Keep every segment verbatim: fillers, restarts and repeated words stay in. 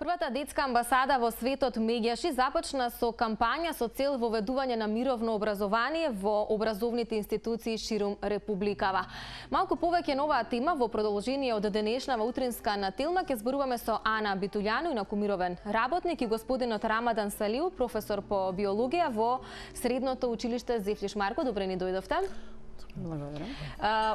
Првата детска амбасада во светот Меѓаши започна со кампања со цел воведување на мировно образование во образовните институции ширум Републикава. Малку повеќе на оваа тема во продолжение од денешнава утринска нателма ќе зборуваме со Ана Битулјану, инакумировен работник, и господинот Рамадан Салиу, професор по биологија во Средното училиште Зефлиш Марко. Добре ни дојдовте. Благодарам.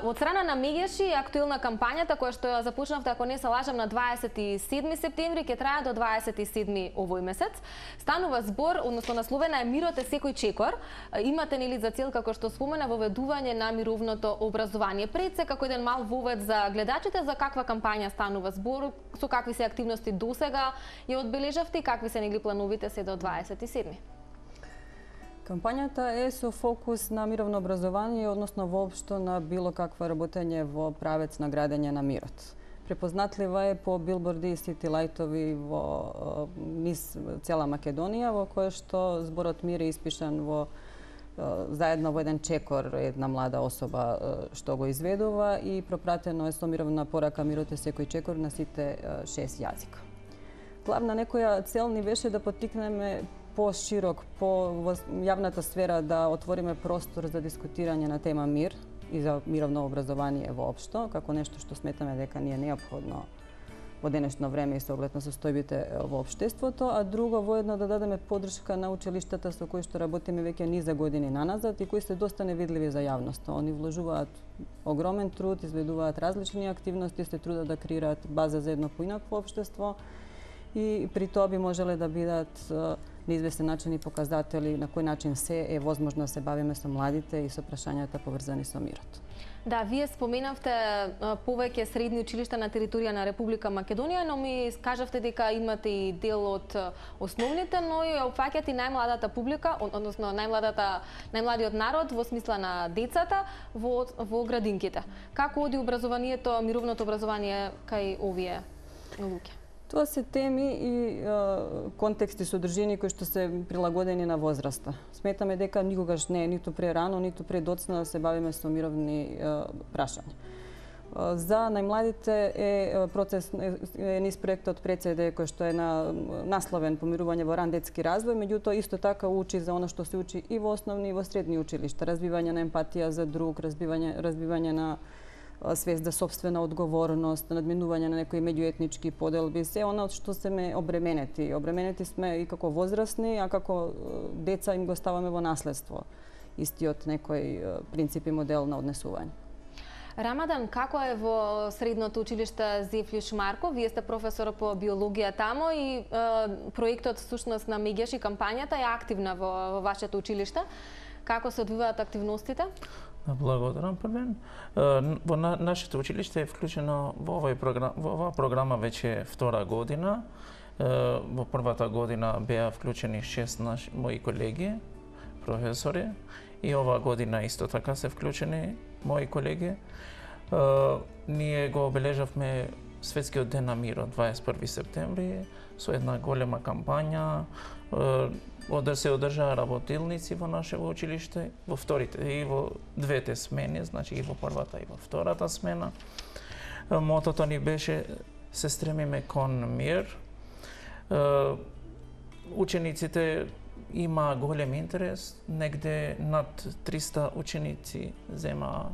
Од страна на Меѓаши е актуелна кампањата која што ја започнавте, ако не се лажам, на дваесет и седми септември, ќе трае до дваесет и седми овој месец. Станува збор, односно насловена е "Мирот е секој чекор". Имате нели за цел, како што спомена, воведување на мировното образование. Пред се, како еден мал вовед за гледачите, за каква кампања станува збор, со какви се активности досега ја одбележавте и какви се нели плановите се до дваесет и седми? Кампањата е со фокус на мировно образование, односно воопшто на било каква работење во правец на градење на мирот. Препознатлива е по билборди и сити лајтови во низ цела Македонија, во кое што зборот мир е испишан во заедно во еден чекор, една млада особа што го изведува, и пропратено е со мировна порака "Мирот е секој чекор" на сите шест јазика. Главна некоја цел ни беше да поттикнеме по-широк, по во јавната сфера да отвориме простор за дискутирање на тема мир и за мировно образование воопшто, како нешто што сметаме дека ни е неопходно во денешно време и со оглед на состојбите во општеството, а друго воедно да дадеме поддршка на училиштата со кои што работиме веќе низа години наназад и кои се доста невидливи за јавноста. Они вложуваат огромен труд, изведуваат различни активности, се трудат да креираат база за едно поинакво општество и при тоа би можеле да бидат на известен начин и показатели на кој начин се е возможно да се бавиме со младите и со прашањата поврзани со мирот. Да, вие споменавте повеќе средни училишта на територија на Република Македонија, но ми кажавте дека имате и дел од основните, но и опфаќате и најмладата публика, односно најмладата најмладиот народ во смисла на децата во во градинките. Како оди образованието, мировното образование кај овие луѓе? Тоа се теми и е, контексти содржини кои што се прилагодени на возраста. Сметаме дека никогаш не е ниту прерано, ниту предоцна да се бавиме со мировни е, прашања. Е, за најмладите е процес е низ проектот Прецеде кој што е на насловен помирување во ран детски развој, меѓутоа исто така учи за она што се учи и во основни и во средни училишта, разбивање на емпатија за друг, разбивање разбивање на свест за собствена одговорност, надминување на некои меѓуетнички поделби, се она од што сме обременети. Обременети сме и како возрастни, а како деца им го ставаме во наследство истиот некој принцип и модел на однесување. Рамадан, како е во Средното училиште Зефлиш Марко? Вие сте професор по биологија тамо и е, проектот всушност на Меѓаши, кампањата е активна во, во вашето училиште. Како се одвиваат активностите? Благодарам, Првен. Во на, нашето училиште е вклучено во овој програм, во оваа програма веќе втора година. Во првата година беа вклучени шест наши мои колеги, професори, и оваа година исто така се вклучени мои колеги. Ние го обележавме Светскиот ден на мирот дваесет и први септември со една голема кампања. Ода се одржаа работилници во нашето училиште, во вторите и во двете смени, значи и во првата и во втората смена. Мотото ни беше се стремиме кон мир. Учениците има голем интерес, негде над триста ученици зема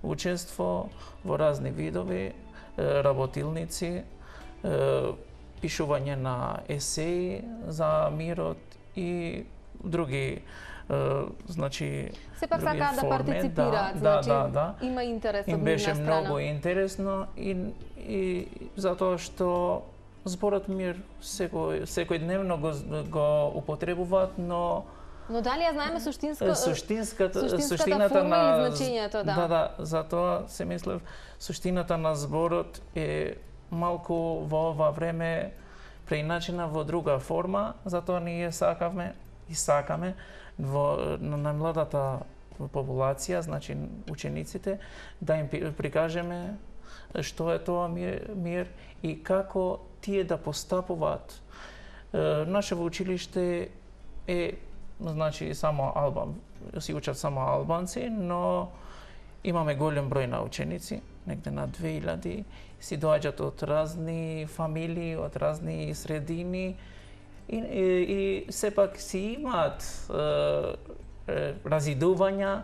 учество во разни видови, работилници, пишување на есеи за мирот и други, е, значи, сепак други сакаат да форми. партиципираат, да, значи да, да, да. Има интерес од Им беше нивна страна. многу интересно и, и затоа што зборот мир секој секојдневно го, го употребуваат, но Но дали ја знаеме суштинска суштинската суштинската суштината форма на и значењето, да. Да, да, затоа се мислев суштината на зборот е малку во ова време преиначена во друга форма, затоа ние сакавме и сакаме во на најмладата популација, значи учениците, да им прикажеме што е тоа мир, мир и како тие да постапуваат. Нашето училиште е, значи, само албан, си учат само албанци, но имаме голем број на ученици, негде на две илјади, си доаѓаат од разни фамилии, од разни средини и, и, и сепак си имаат е, е, разидувања,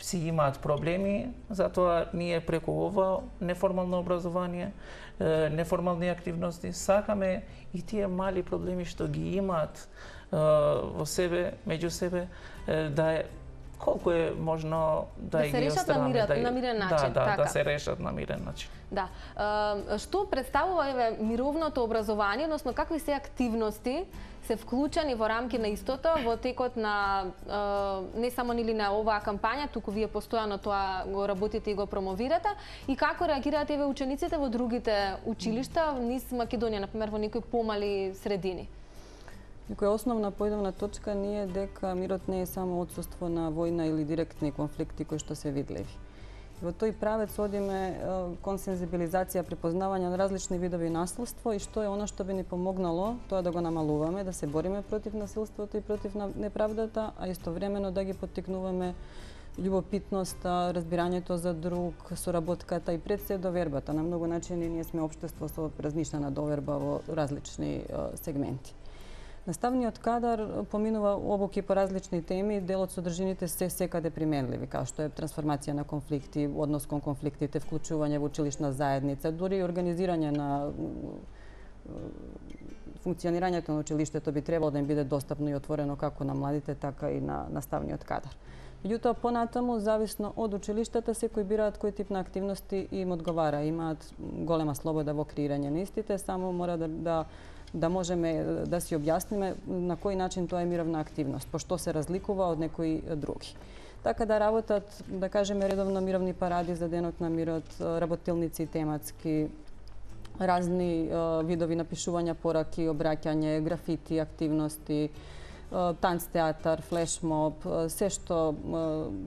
си имаат проблеми, затоа ние преку ова неформално образование, е, неформални активности, сакаме и тие мали проблеми што ги имаат е, во себе, меѓу себе, е, да е колку е можно да, да ги острани, да, да, на мирен начин, да, да, така. да се решат на мирен начин. Да. Uh, што представува еве мировното образование, односно какви се активности се вклучени во рамки на истото во текот на uh, не само нели на оваа кампања, туку вие постојано тоа го работите и го промовирате, и како реагираат еве учениците во другите училишта низ Македонија, например во некои помали средини? Некоја основна поидовна точка ние дека мирот не е само отсуство на војна или директни конфликти кои што се видливи. Во тој правец одиме кон сензибилизација, препознавање на различни видови насилство и што е она што би ни помогнало тоа да го намалуваме, да се бориме против насилството и против неправдата, а истовремено да ги поттикнуваме љубопитноста, разбирањето за друг, соработката и пред се довербата. На многу начини ние сме општество со размишljена доверба во различни сегменти. Наставниот кадар поминува обуки по различни теми, дел од содржините се секаде применливи, како што е трансформација на конфликти, однос кон конфликтите, вклучување во училишна заедница, дури и организирање на функционирањето на училиштето би требало да им биде достапно и отворено како на младите, така и на наставниот кадар. Меѓутоа, понатаму, зависно од училиштата, секој бираат кој тип на активности им одговара. Имаат голема слобода во креирање на истите, само мора да, да да можеме да си објасниме на кој начин тоа е мировна активност, по што се разликува од некои други. Така да работат, да кажеме, редовно мировни паради за Денот на мирот, работилници тематски, разни видови напишувања пораки, обраќање, графити, активности, танц театар, флешмоб, се што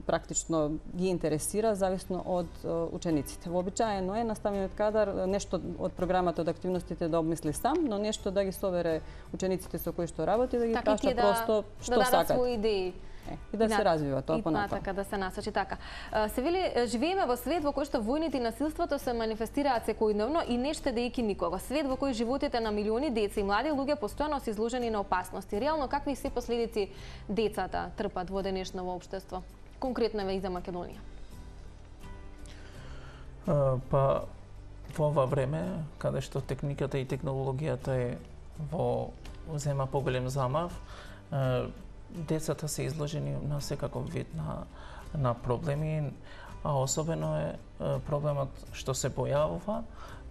практично ги интересира, зависно од учениците. Вообичаено е наставниот кадар нешто од програмата, од активностите да обмисли сам, но нешто да ги совере учениците со кои што работи, да ги така, праша да, просто што да сакат. своји идеи. Е, и да и се развива тоа понатаму. Така да се насочи така. Се вели, живееме во свет во кој што војните и насилството се манифестираат секојдневно и не штедејќи никого. Свет во кој животите на милиони деца и млади луѓе постојано се изложени на опасности. Реално какви се последици децата трпат во денешно во општество? Конкретно и за Македонија. Uh, па во ова време, каде што техниката и технологијата е во зема поголем замав, uh, децата се изложени на секаков вид на, на проблеми, а особено е проблемот што се појавува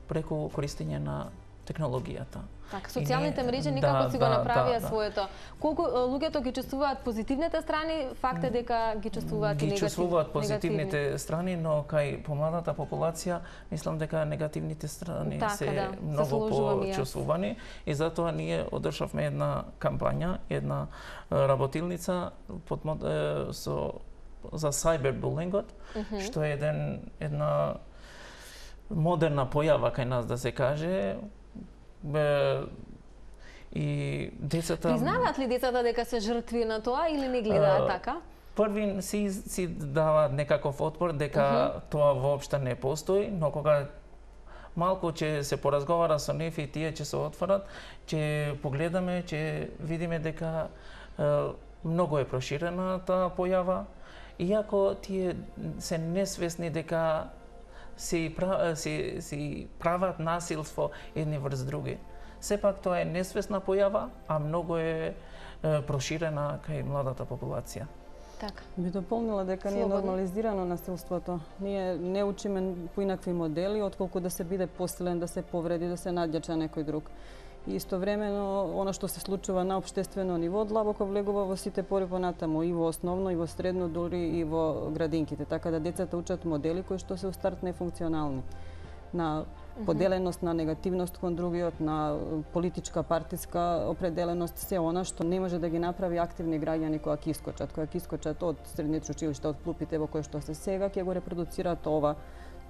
преку користење на технологијата. Така, социјалните мрежи никако да, си го да, направија да, да. своето. Колку луѓето ги чувствуваат позитивните страни, факт е дека ги чувствуваат ги и негативни. Ги чувствуваат позитивните негативни. страни, но кај помладата популација мислам дека негативните страни така, се да, многу почувствувани и затоа ние одржавме една кампања, една работилница под, со за cyberbullyingот, uh -huh. што е еден една модерна појава кај нас, да се каже. Бе, и децата... Признаваат ли децата дека се жртви на тоа или не гледаат така? Први си, си даваат некаков отпор дека uh -huh. тоа воопшто не постои, но кога малку ќе се поразговара со нив и тие ќе се отворат, ќе погледаме, ќе видиме дека е, многу е проширена таа појава, иако тие се несвесни дека си, си, си прават насилство едни врз други. Сепак тоа е несвесна појава, а многу е, е проширена кај младата популација. Така. Би дополнила дека не е нормализирано насилството. Ние не учиме по инакви модели, отколку да се биде посилен, да се повреди, да се надјача некој друг. И истовремено, она што се случува на општествено ниво, длабоко влегува во сите пори понатаму, и во основно, и во средно, дури и во градинките. Така да децата учат модели кои што се у старт нефункционални. На поделеност, на негативност кон другиот, на политичка, партиска определеност, се она што не може да ги направи активни граѓани кои ќе искочат, кои ќе искочат од средните училишта, од клупите во кои што се сега, ќе го репродуцираат ова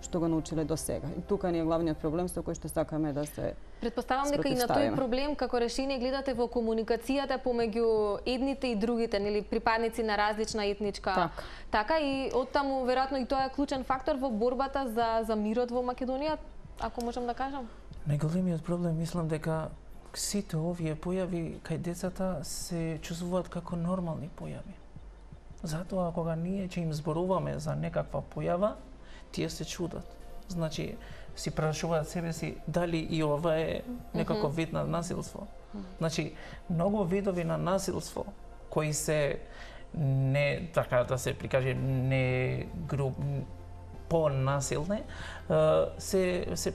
што го научиле до сега. И тука ни е главниот проблем со кој што сакаме да се Претпоставам дека и на тој проблем како решение гледате во комуникацијата помеѓу едните и другите, нели припадници на различна етничка. Так. Така и оттаму веројатно и тоа е клучен фактор во борбата за за мирот во Македонија, ако можам да кажам. Најголемиот проблем мислам дека сите овие појави кај децата се чувствуваат како нормални појави. Затоа кога ние ќе им зборуваме за некаква појава, тие се чудат. Значи, си прашуваат себе си дали и ова е некаков вид на насилство. Значи, многу видови на насилство кои се не така да се прикаже не груп понасилни се се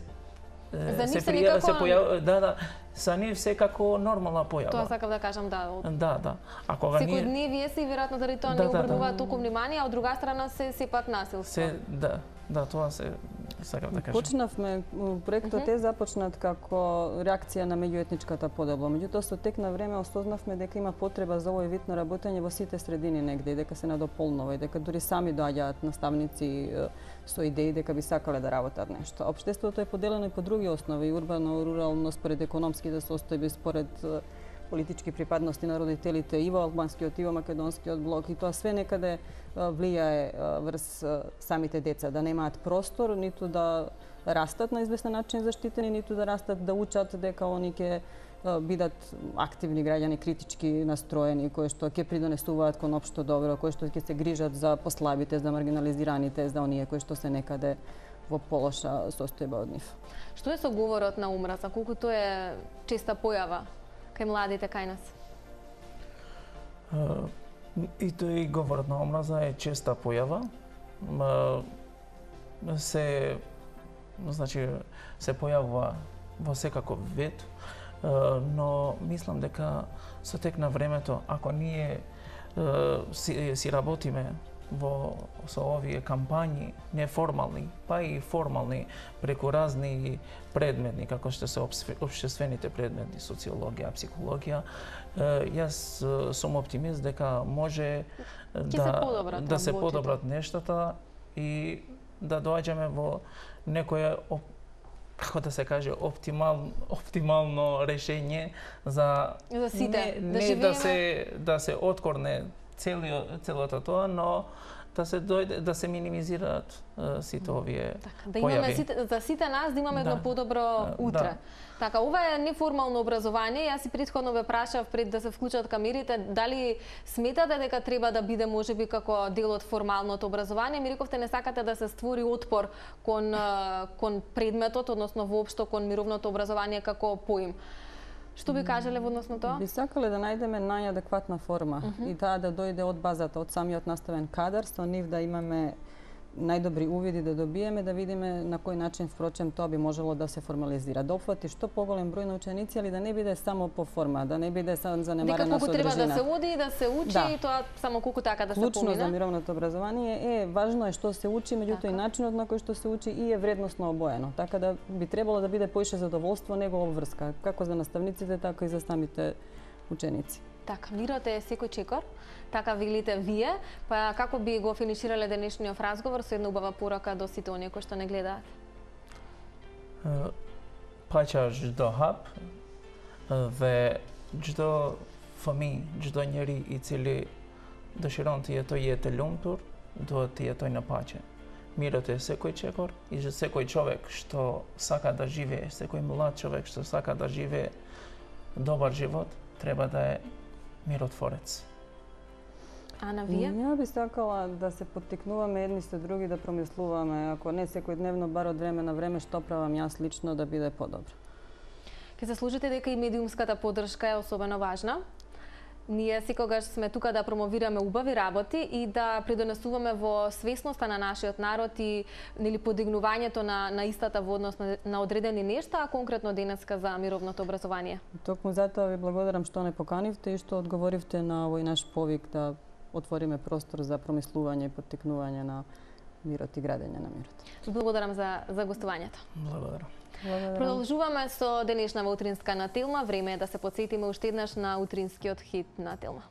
За се се прија, се некако... појав, да, да, за нив се како нормална појава. Тоа сакав да кажам, да. Од... Да, да. А кога ние секојдневие си веројатно заради тоа да, не да, обрнуваат да. толку внимание, а од друга страна се сепак насилство. се да, да, тоа се сакав да кажам. Почнавме, проектот е започнат како реакција на меѓуетничката подоба. Меѓутоа, со тек на време осознавме дека има потреба за овој вид на работење во сите средини негде и дека се надополнува и дека дури сами доаѓаат наставници со идеи дека би сакале да работат нешто. Општеството е поделено и по други основи, урбано, рурално, според економските состојби, според политички припадности на родителите и во албанскиот и во македонскиот блок, и тоа све некаде влијае врз самите деца, да немаат простор ниту да растат на известен начин заштитени, ниту да растат да учат дека они ќе бидат активни граѓани, критички настроени, кои што ќе придонесуваат кон општо добро, кои што ќе се грижат за послабите, за маргинализираните, за оние кои што се некаде во полоша состојба од нив. Што е со говорот на омраза, колку тоа е честа појава кај младите кај нас? И тој говорот на омраза е честа појава. Се значи се појавува во секаков вид, но мислам дека со тек на времето, ако ние си, си работиме во со овие кампањи неформални, па и формални преку разни предметни како што се општествените предмети, социологија, психологија, јас сум оптимист дека може да да се подобрат нештата и да доаѓаме во некое како да се каже оптимал оптимално решение за за сите, не, да не живееме... да се да се откорне целиот целото тоа, но да се дојде да се минимизираат сите овие така, да имаме појави. Сите, за сите нас да имаме да. едно подобро утре. Да. Така, ова е неформално образование. Јас и претходно ве прашав пред да се вклучат камерите, дали сметате дека треба да биде можеби како дел од формалното образование? Ми рековте не сакате да се створи отпор кон кон предметот, односно воопшто кон мировното образование како поим. Што би кажале во однос на тоа? Би сакале да најдеме најадекватна форма uh -huh. и таа да дојде од базата, од самиот наставен кадар, со нив да имаме најдобри увиди да добиеме, да видиме на кој начин впрочем тоа би можело да се формализира, да опфати што поголем број на ученици, али да не биде само по форма, да не биде само занемарена содржина. Дека колку треба да се оди и да се учи да. И тоа само колку така да се помине. Клучно за мировното образование е важно е што се учи, меѓутоа така. И начинот на кој што се учи и е вредносно обоено. Така да би требало да биде поише задоволство него обврска, како за наставниците, така и за самите ученици. Така, мирот е секој чекор, така велите вие, па како би го финиширале денешниот разговор со една убава порака до сите оние кои што не гледаат? Паќа ждо хап, ве ждо фами, ждо njeri i cili dëshiron të jetoj jetë e lumtur, duhet të jetoj në paqe. Mirët e sekoj čekor i že sekoj čovek što saka da žive, sekoj mlad čovek što saka da žive dobar život, treba da je mirotvorec. Ана, вие? Ја би сакала да се поттикнуваме едни со други, да промислуваме, ако не секојдневно, бар од време на време, што правам јас лично да биде подобро. Ке се служите дека и медиумската поддршка е особено важна. Ние секогаш сме тука да промовираме убави работи и да придонесуваме во свесноста на нашиот народ и нели подигнувањето на на истата во однос на, на одредени нешта, а конкретно денеска за мировното образование. Токму затоа ви благодарам што не поканивте и што одговоривте на овој наш повик да отвориме простор за промислување и поттикнување на мирот и градење на мирот. Благодарам за за гостувањето. Благодарам. Благодарам. Продолжуваме со денешнава утринска на Телма. Време е да се потсетиме уште еднаш на утринскиот хит на Телма.